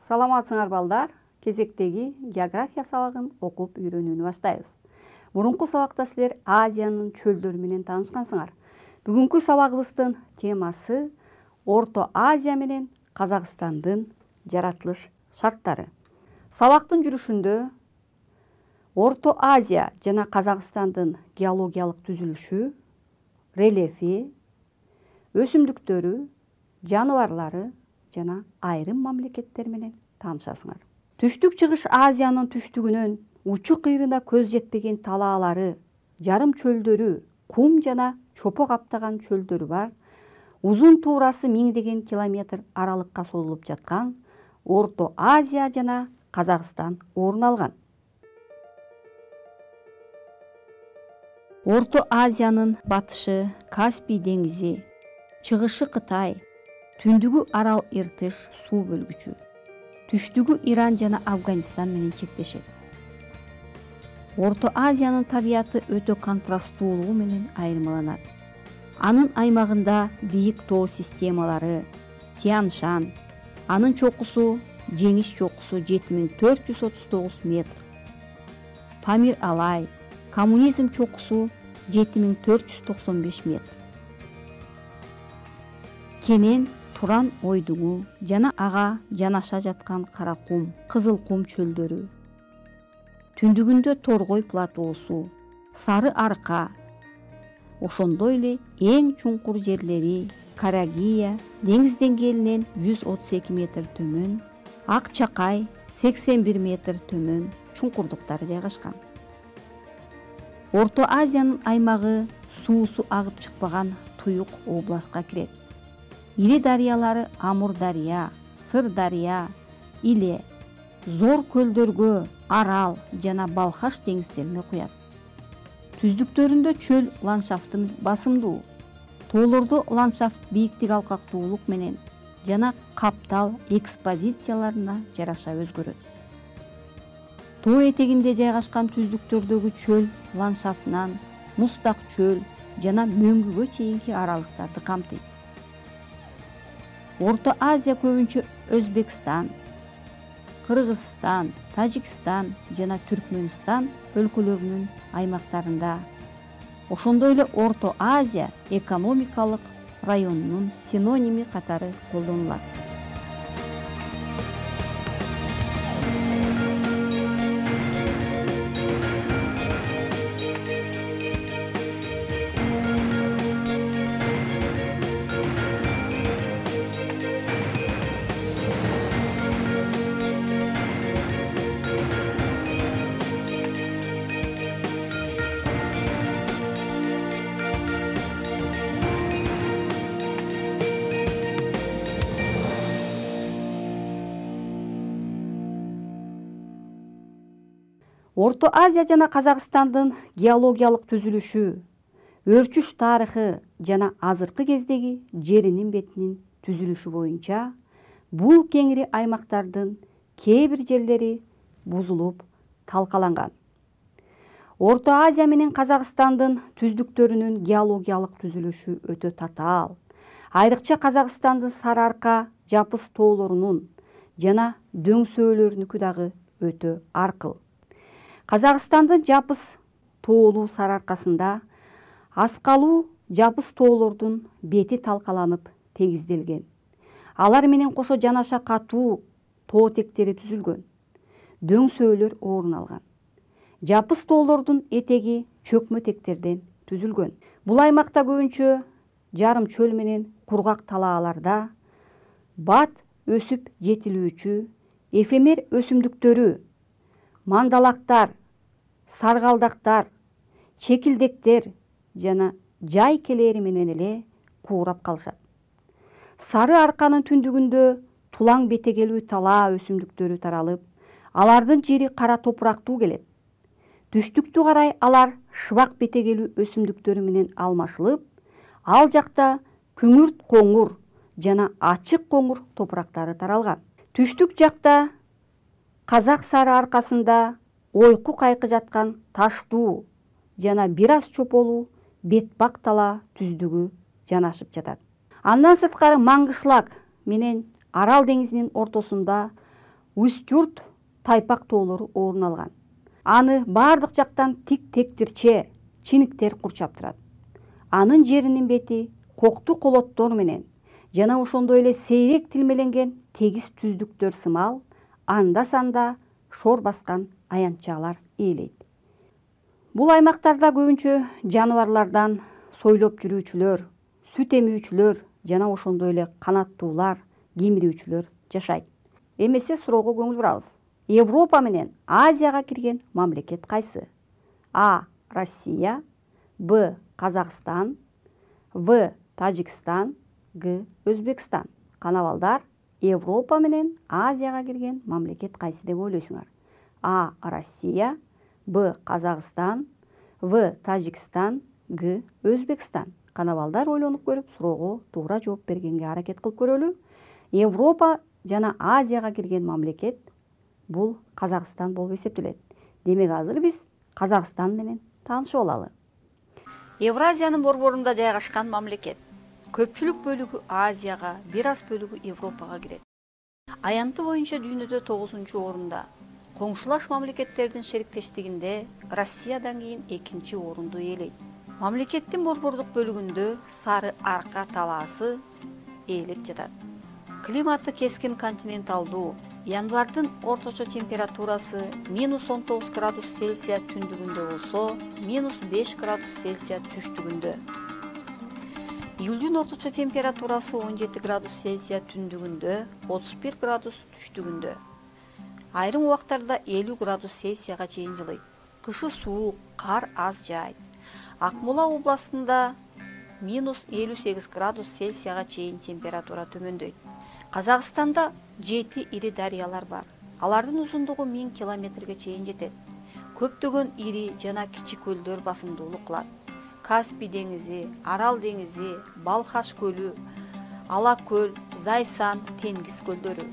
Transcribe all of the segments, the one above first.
Саламатсыңар балдар. Кезектеги география сабагын окуп үйрөнүүнү баштайбыз. Мурунку сабакта силер Азиянын чөлдөрү менен таанышкансыңар. Бүгүнкү сабагыбыздын темасы Орто Азия менен Казакстандын жаратылыш шарттары. Сабактын жүрүшүндө Орто Азия жана Казакстандын геологиялык түзүлүшү, рельефи, өсүмдүктөрү, жаныбарлары жана айрым мамлекеттер менен таанышасыңар. Түштүк-чыгыш Азиянын түштүгүнөн учу-кыйрына көз жетпеген талаалары, жарым чөлдөрү, кум жана чопо каптаган чөлдөрү бар, узун туурасы миңдеген километр аралыкка созулуп жаткан Орто Азия жана Казакстан орун алган. Орто Азиянын батышы Каспий деңизи, чыгышы Кытай, түндүгү Арал Иртыш суу бөлгүчү, түштүгү Иран жана Афганистан менен чектешет. Орто Азиянын табияты өтө контрасттуулугу менен айырмаланат. Анын аймагында бийик тоо системалары, Тянь-Шань, анын чокусу Жеңиш чокусу 7439 метр. Памир-Алай, Коммунизм чокусу 7495 метр. Кенен Туран ойдуңу жана ага жанаша жаткан Каракум, Кызыл кум чөлдөрү. Түндүгүндө Торгой платоосу, Сары Арка, ошондой эле эң чуңкур жерлери Карагия деңиз деңгээлинен 132 метр төмөн, Ак Чакай 81 метр төмөн чуңкурдуктары жайгашкан. Орто Азиянын аймагы суусу агып чыкпаган туюк областка кирет. Ири дарыялары Амур дарыя, Сыр дарыя, Иле, зор көлдөргө Арал жана Балхаш деңиздерине куят. Түздүктөрүндө чөл ландшафты басымдуу. Тоолордо ландшафт бийиктик алкактуулук менен жана каптал экспозицияларына жараша өзгөрөт. Тоо этегинде жайгашкан түздүктөрдөгү чөл ландшафтынан муздак чөл жана мөңгүгө чейинки аралыктарды камтыйт. Орто Азия көбүнчө Өзбекстан, Кыргызстан, Тажикстан жана Түркмөнстан өлкөлөрүнүн аймактарында, ошондой эле Орто Азия экономикалык районунун синоними катары колдонулат. Орто Азия жана Казакстандын геологиялык түзүлүшү, өрчүш тарыхы жана азыркы кездеги жеринин бетинин түзүлүшү боюнча бул кеңири аймактардын кээ бир жерлери бузулуп талкаланган. Орто Азия менен Казакстандын түздүктөрүнүн геологиялык түзүлүшү өтө татаал. Айрыкча Казакстандын Сары Арка жапыс тоолорунун жана дөңсөөлөрүнүкү дагы өтө аркыл. Казакстандын жапыс тоолуу Сары Аркасында аскалуу жапыс тоолордун бети талкаланып тегизделген. Алар менен кошо жанаша катуу тоотектери түзүлгөн. Дөңсөөлөр орун алган. Жапыс тоолордун этеги чөкмөтектерден түзүлгөн. Бул аймакта көбүнчө жарым чөл менен кургак талааларда бат өсүп жетилүүчү эфемер өсүмдүктөрү, мандалактар, саргалдактар, чекилдектер жана жай келери менен эле куурап калышат. Сары Арканын түндүгүндө тулаң бетегелүү талаа өсүмдүктөрү таралып, алардын жери кара топурактуу келет. Түштүктү карай алар шыбак бетегелүү өсүмдүктөрү менен алмашылып, ал жакта күңүрт коңур жана ачык коңур топурактары таралган. Түштүк жакта Казак Сары Аркасында ойку кайкы жаткан таштуу жана бир аз чополуу бетбак талаа түздүгү жанашып жатат. Андан сырткары Маңгышлак менен Арал деңизинин ортосунда Устюрт тайпак тоолору орун алган. Аны бардык жактан тик-тектирче чиниктер курчап турат. Анын жеринин бети кокту колоттор менен жана ошондой эле сейрек тилмеленген тегиз түздүктөр сымал анда-санда шор баскан аянтчалар ээлейт. Бул аймактарда көбүнчө жаныбарлардан сойлоп жүрүүчүлөр, сүт эмүүчүлөр жана ошондой эле канаттуулар, кемирүүчүлөр жашайт. Эмесе суроого көңүл бурабыз. Европа менен Азияга кирген мамлекет кайсы? А. Россия, Б. Казакстан, В. Тажикстан, Г. Өзбекстан. Кана балдар, Европа менен Азияга кирген мамлекет кайсы деп ойлойсуңар? А. Россия, Б. Казакстан, В. Тажикстан, Г. Өзбекстан. Кана балдар ойлонуп көрүп, суроого туура жооп бергенге аракет кылып көрөлү. Европа жана Азияга кирген мамлекет бул Казакстан болуп эсептелет. Демек азыр биз Казакстан менен таанышып алалы. Евразиянын борборунда жайгашкан мамлекет. Көпчүлүк бөлүгү Азияга, бир аз бөлүгү Европага кирет. Аянты боюнча дүйнөдө 9-орунда. Коңшулаш мамлекеттердин шериктештигинде Россиядан кийин 2-орунду ээлейт. Мамлекеттин борбордук бөлүгүндө Сары Арка талаасы ээлеп жатат. Климаты кескин континенталдуу. Январдын орточо температурасы -19 градус Цельсия түндүгүндө болсо, -5 градус Цельсия түштүгүндө. Июлдун орточо температурасы 17 градус Цельсия түндүгүндө, 31 градус түштүгүндө. Айрым убактарда 50 градус Цельсияга чейин жылыйт. Кышы суук, кар аз жаайт. Акмола областында -58 градус Цельсияга чейин температура төмөндөйт. Казакстанда 7 ири дарыялар бар. Алардын узундугу 1000 километрге чейин жетет. Көптөгөн ири жана кичи көлдөр басымдуулук кылат. Каспий деңизи, Арал деңизи, Балхаш көлү, Ала көл, Зайсан, Тенгиз көлдөрү.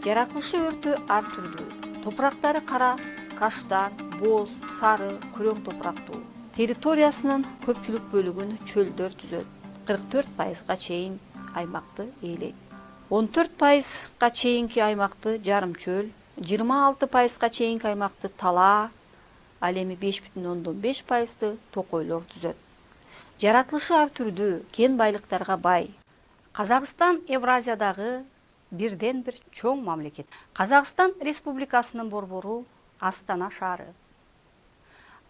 Жаратылышы өртө ар түрдүү. Топурактары кара, каштан, боз, сары, күрөң топурактуу. Территориясынын көпчүлүк бөлүгүн чөлдөр түзөт. 44%га чейин аймакты ээлейт. 14%га чейинки аймакты жарым чөл, 26%га чейинки аймакты тала, ал эми 5,5%ды токойлор түзөт. Жаратылышы ар түрдүү, кен байлыктарга бай. Казакстан Евразиядагы бирден бир чоң мамлекет. Казакстан Республикасынын борбору Астана шаары.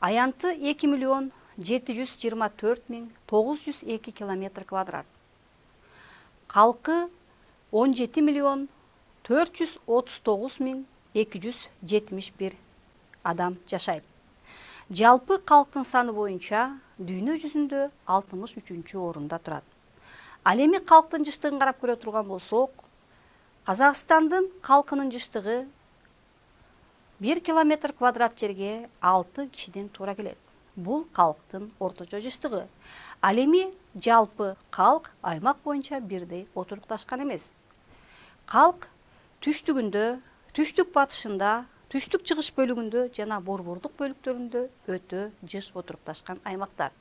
Аянты 2,724,902 километр квадрат. Калкы 17,439,271 адам жашайт. Жалпы калктын саны боюнча дүйнө жүзүндө 63-орунда турат. Ал эми калктын жыштыгын карап көрө турган болсок, Казакстандын калкынын жыштыгы 1 километр квадрат жерге 6 кишиден туура келет. Бул калктын орточо жыштыгы. Ал эми жалпы калк аймак боюнча бирдей отурукташкан эмес. Калк түштүгүндө, түштүк батышында, түштүк чыгыш бөлүгүндө жана борбордук бөлүктөрүндө өтө жыш отурукташкан аймактар.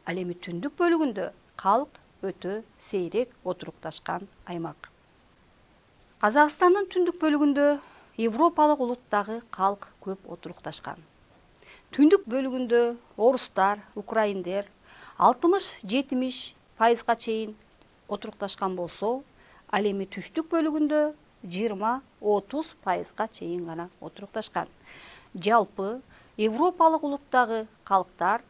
Ал эми түндүк бөлүгүндө калк өтө сейрек отурукташкан аймак. Казакстандын түндүк бөлүгүндө Европалык улуттагы калк көп отурукташкан. Түндүк бөлүгүндө орустар, украиндер 60-70%га чейин отурукташкан болсо, ал эми түштүк бөлүгүндө 20-30%га чейин гана отурукташкан. Жалпы Европалык улуттагы калктар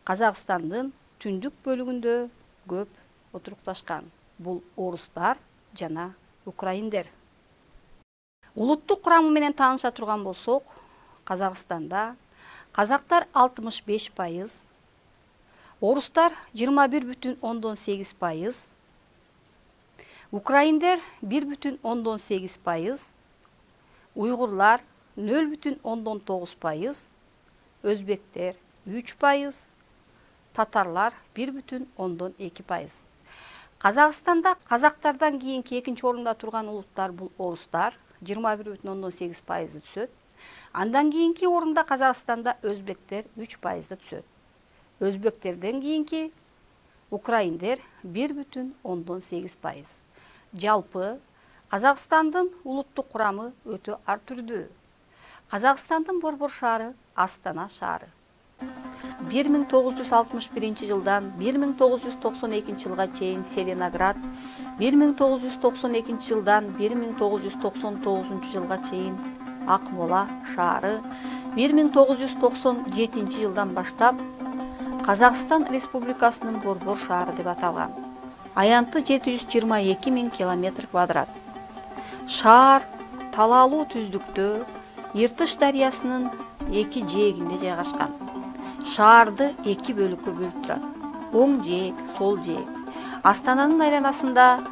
Казакстандын түндүк бөлүгүндө көп отурукташкан. Бул орустар жана украиндер. Улуттук курамы менен тааныша турган болсок, Казакстанда казактар 65%, орустар 21,8%, украиндер 1,8%, уйгурлар 0,9%, өзбектер 3%, татарлар 1,2%. Казакстанда казактардан кийинки 2-орунда турган улуттар бул орустар 21,8%ды түзөт. Андан кийинки орунда Казакстанда өзбектер 3%ды түзөт. Өзбектерден кийинки украиндер 1,8%. Жалпы Казакстандын улуттук курамы өтө ар түрдүү. Казакстандын борбор шаары Астана шаары. 1961 жылдан 1992 жылга чейин Селеноград, 1992 жылдан 1999 жылга чейин Акмола шаары, 1997 жылдан баштап Казакстан Республикасынын борбор шаары деп аталган. Аянты 722 000 километр квадрат. Шаар талаалуу түздүктө Иртыш дарыясынын эки жээгинде жайгашкан. Шаарды эки бөлүккө бөлүп турат. Оң жээк, сол жээк. Астананын айланасында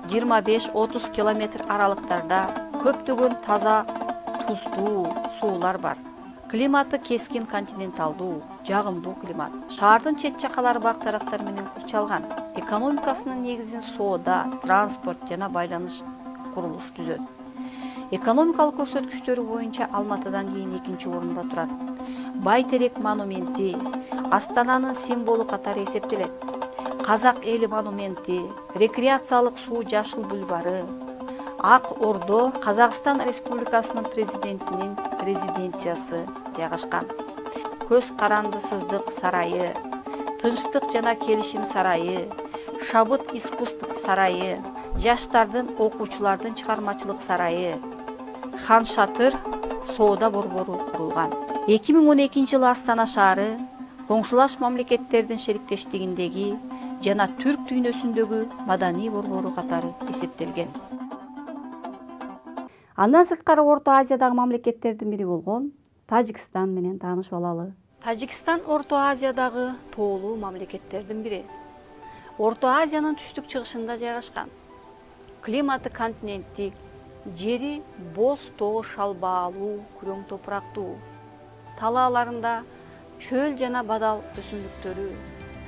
25-30 километр аралыктарда көптөгөн таза туздуу суулар бар. Климаты кескин континенталдуу, жагымдуу климат. Шаардын чет жакалары бак-дарактар менен курчалган. Экономикасынын негизин соода, транспорт жана байланыш курулуш түзөт. Экономикалык көрсөткүчтөрү боюнча Алматыдан кийин экинчи орунда турат. Байтерек монументи Астананын символу катары эсептелет. Казак эли монументи, рекреациялык суу жашыл бульвары, Ак Ордо Казакстан Республикасынын президентинин резиденциясы жайгашкан. Көз карандысыздык сарайы, Тынчтык жана келишим сарайы, Шабыт искусстук сарайы, Жаштардын окуучулардын чыгармачылык сарайы, Хан Шатыр соода борбору курулган. 2012 жылы Астана шаары коңшулаш мамлекеттердин шериктештигиндеги жана түрк дүйнөсүндөгү маданий борбору катары эсептелген. Андан сырткары Орто Азиядагы мамлекеттердин бири болгон Тажикстан менен таанышып алалы. Тажикстан Орто Азиядагы тоолуу мамлекеттердин бири. Орто Азиянын түштүк-чыгышында жайгашкан. Климаты континенттик, жери боз тоо шалбаалуу, күрөң топурактуу. Талааларында чөл жана бадал өсүмдүктөрү,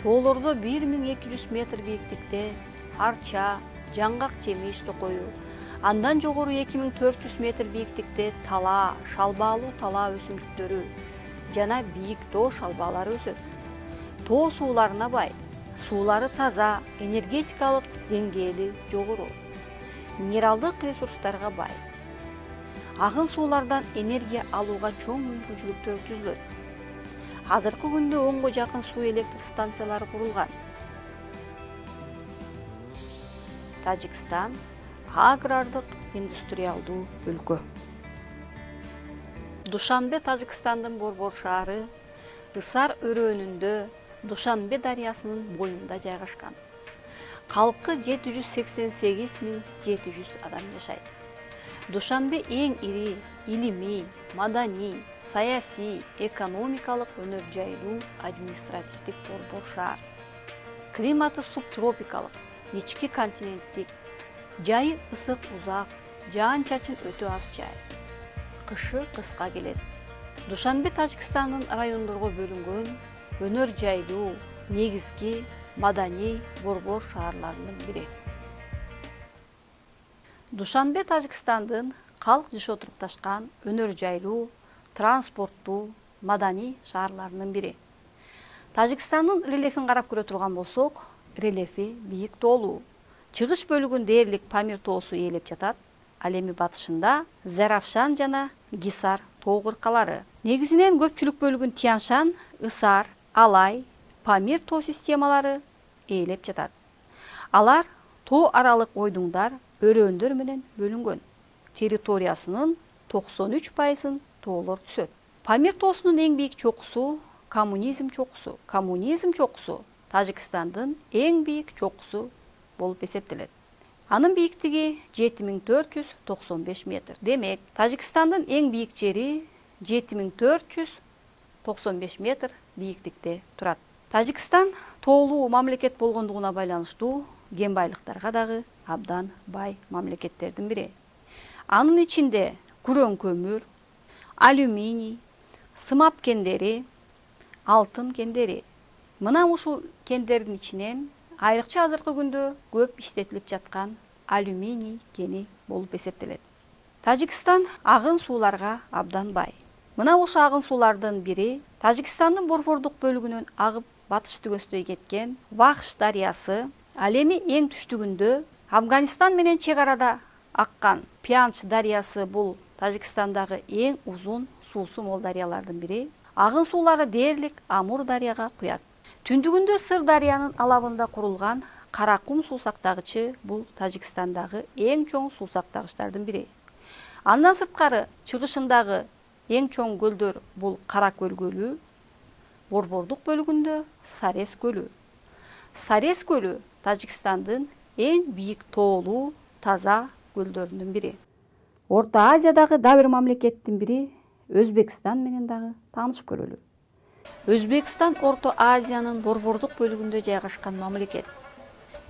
тоолордо 1200 метр бийиктикте арча, жаңгак жемиш токою, андан жогору 2400 метр бийиктикте талаа, шалбаалуу талаа өсүмдүктөрү жана бийик тоо шалбаалары өсөт. Тоо сууларына бай, суулары таза, энергетикалык деңгээли жогору, минералдык ресурстарга бай. Агын суулардан энергия алууга чоң мүмкүнчүлүктөр түзүлөт. Азыркы күндө 10 жакын суу электр станциялары курулган. Тажикстан агрардык индустриалдуу өлкө. Душанбе Тажикстандын борбор шаары Ысар өрөөнүндө Душанбе дарыясынын боюнда жайгашкан. Калкы 788 700 адам жашайт. Душанбе эң ири илимий, маданий, саясий, экономикалык өнөр жайлуу административдик борбор шаар. Климаты субтропикалык, ички континенттик, жайы ысык узак, жаан-чачын өтө аз жай. Кышы кыска келет. Душанбе Тажикстандын райондорго бөлүнгөн өнөр жайлуу негизги маданий борбор шаарларынын бири. Душанбе Тажикстандын калк жышы отурукташкан өнөр жайлуу, транспорттуу, маданий шаарларынын бири. Тажикстандын рельефин карап көрө турган болсок, рельефи бийик тоолуу. Чыгыш бөлүгүн дээрлик Памир тоосу ээлеп жатат. Ал эми батышында Заравшан жана Гисар тоо кыркалары. Негизинен көпчүлүк бөлүгүн Тяншан, Ысар, Алай, Памир тоо системалары ээлеп жатат. Алар тоо аралык ойдуңдар, өрөөөндөр менен бөлүнгөн. Территориясынын 93% тоолор түзөт. Памир тоосунун эң бийик чокусу Коммунизм чокусу. Коммунизм чокусу Тажикстандын эң бийик чокусу болуп эсептелет. Анын бийиктиги 7495 метр. Демек, Тажикстандын эң бийик жери 7495 метр бийиктикте турат. Тажикстан тоолуу мамлекет болгондугуна байланыштуу кен байлыктарга дагы абдан бай мамлекеттердин бири. Анын ичинде күрөң көмүр, алюминий, сымап кендери, алтын кендери. Мына ушул кендердин ичинен айрыкча азыркы күндө көп иштетилип жаткан алюминий кени болуп эсептелет. Тажикстан агын сууларга абдан бай. Мына ошол агын суулардын бири Тажикстандын борбордук бөлүгүнөн агып батышты көздөй кеткен Вахш дарыясы. Ал эми эң түштүгүндө Афганистан менен чек арада аккан Пянч дарыясы бул Тажикстандагы эң узун суусу мол дарыялардын бири. Агын суулары дээрлик Амур дарыяга куят. Түндүгүндө Сыр дарыянын алабында курулган Каракум суу сактагычы бул Тажикстандагы эң чоң суу сактагычтардын бири. Андан сырткары чыгышындагы эң чоң көлдөр бул Кара көл көлү, борбордук бөлүгүндө Сарес көлү. Сарес көлү Тажикстандын эң бийик тоолуу таза көлдөрүнүн бири. Орто Азиядагы да бир мамлекеттин бири Өзбекстан менен дагы таанышып көрөлү. Өзбекстан Орто Азиянын борбордук бөлүгүндө жайгашкан мамлекет.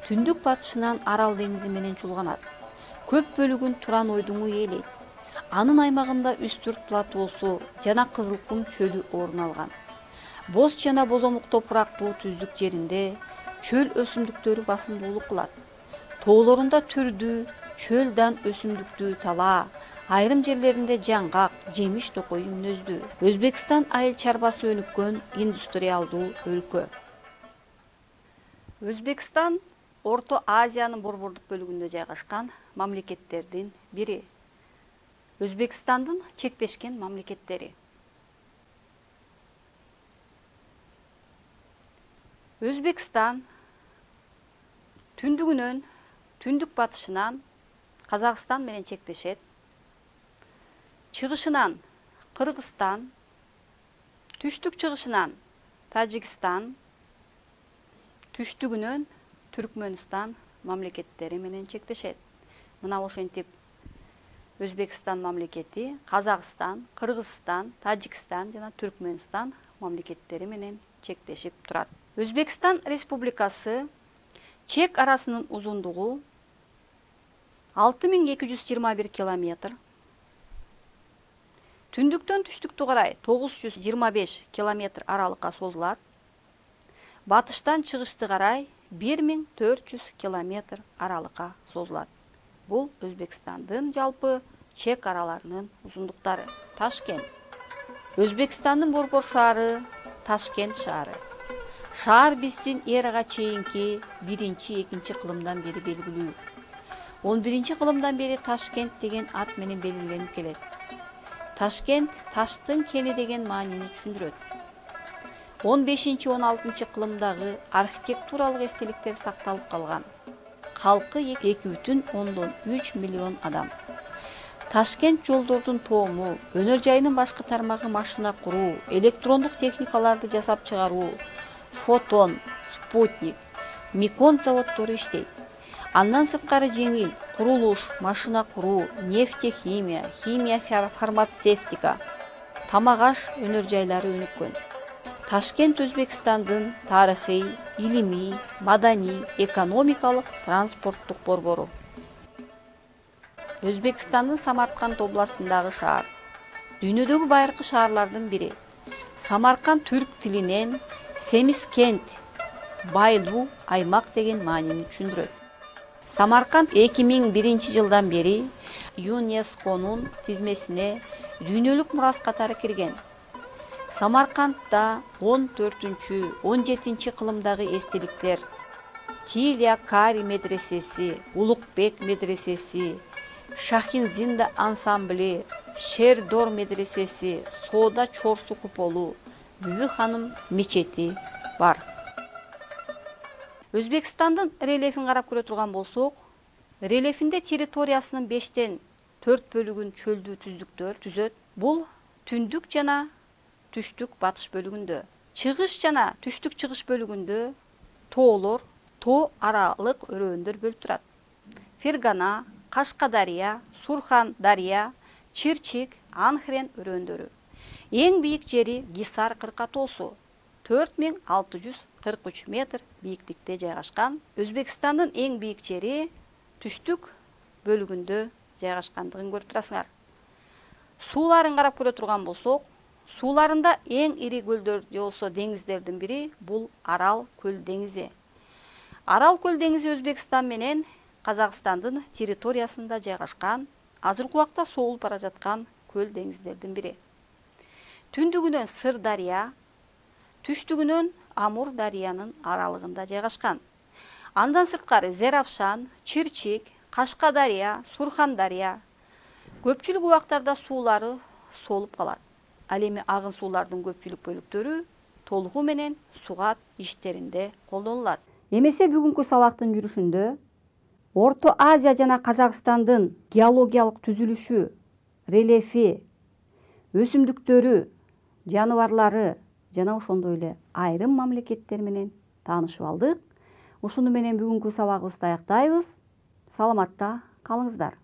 Түндүк батышынан Арал деңизи менен чулганат. Көп бөлүгүн Туран ойдуңу ээлейт. Анын аймагында Үстүрт платоосу жана Кызылкум чөлү орун алган. Боз жана бозомук топурактуу түздүк жеринде чөл өсүмдүктөрү басымдуулук кылат. Тоолорунда түрдүү, чөл дан өсүмдүктүү тала, айрым жерлеринде жаңгак, жемиш токой мүнөздүү. Өзбекстан айыл чарбасы өнүккөн индустриалдуу өлкө. Өзбекстан Орто Азиянын борбордук бөлүгүндө жайгашкан мамлекеттердин бири. Өзбекстандын чектешкен мамлекеттери. Өзбекстан түндүгүнөн, түндүк батышынан Казакстан менен чектешет. Чыгышынан Кыргызстан, түштүк чыгышынан Тажикстан, түштүгүнөн Түркмөнстан мамлекеттери менен чектешет. Мына ошентип Өзбекстан мамлекети Казакстан, Кыргызстан, Тажикстан жана Түркмөнстан мамлекеттери менен чектешип турат. Өзбекстан Республикасы чек арасынын узундугу 6221 километр. Түндүктөн түштүктү карай 925 километр аралыкка созулат. Батыштан чыгышты карай 1400 километр аралыкка созулат. Бул Өзбекстандын жалпы чек араларынын узундуктары. Ташкент. Өзбекстандын борбор шаары Ташкент шаары. Шаар биздин эрага чейинки 1-2 кылымдан бери белгилүү. 11-кылымдан бери Ташкент деген ат менен белгиленип келет. Ташкент таштын кени деген маанини түшүндүрөт. 15-16 кылымдагы архитектуралык эстеликтер сакталып калган. Калкы 2,3 миллион адам. Ташкент жолдордун тоому, өнөр жайынын башкы тармагы машина куруу, электрондук техникаларды жасап чыгаруу, фотон, спутник, микон заводдору иштейт. Андан сырткары жеңил курулуш, машина куруу, нефтехимия, химия, фармацевтика, тамак аш өнөр жайлары өнүккөн. Ташкент Өзбекстандын тарыхый, илимий, маданий, экономикалык, транспорттук борбору. Өзбекстандын Самарканд областындагы шаар. Дүйнөдөгү байыркы шаарлардын бири. Самарканд түрк тилинен Семискент, байлуу аймак деген маанини түшүндүрөт. Самарканд 2001 жылдан бери ЮНЕСКОнун тизмесине дүйнөлүк мурас катары кирген. Самаркандда 14-17 кылымдагы эстеликтер Тилия Кари медресеси, Улукбек медресеси, Шахинзинда ансамбли, Шердор медресеси, Соода Чорсу куполу, Бүбү ханым мечети бар. Өзбекстандын рельефин карап көрө турган болсок, рельефинде территориясынын 5-4 бөлүгүн чөлдүү түздүктөр түзөт. Бул түндүк жана түштүк батыш бөлүгүндө. Чыгыш жана түштүк чыгыш бөлүгүндө тоолор, тоо аралык өрөөндөр бөлүп турат. Фергана, Кашкадария, Сурхан дарыя, Чирчик, Анхрен өрөөндөрү. Эң бийик жери Гисар кырка тоосу, 4643 метр бийиктикте жайгашкан. Өзбекстандын эң бийик жери түштүк бөлүгүндө жайгашкандыгын көрүп турасыңар. Сууларын карап көрө турган болсок, сууларында эң ири көлдөр же болсо деңиздердин бири бул Арал көл деңизи. Арал көл деңизи Өзбекстан менен Казакстандын территориясында жайгашкан, азыркы убакта соолуп бара жаткан көл деңиздердин бири. Түндүгүнөн Сыр дарыя, түштүгүнөн Амур дарыянын аралыгында жайгашкан. Андан сырткары Зеравшан, Чирчик, Кашкадария, Сурхандария көпчүлүк убактарда суулары солуп калат. Ал эми агын суулардын көпчүлүк бөлүктөрү толугу менен сугат иштеринде колдонулат. Эмесе бүгүнкү сабактын жүрүшүндө Орто Азия жана Казакстандын геологиялык түзүлүшү, рельефи, өсүмдүктөрү, жаныбарлары жана ошондой эле айрым мамлекеттер менен таанышып алдык. Ушуну менен бүгүнкү сабагыбызды аяктайбыз. Саламатта калыңыздар.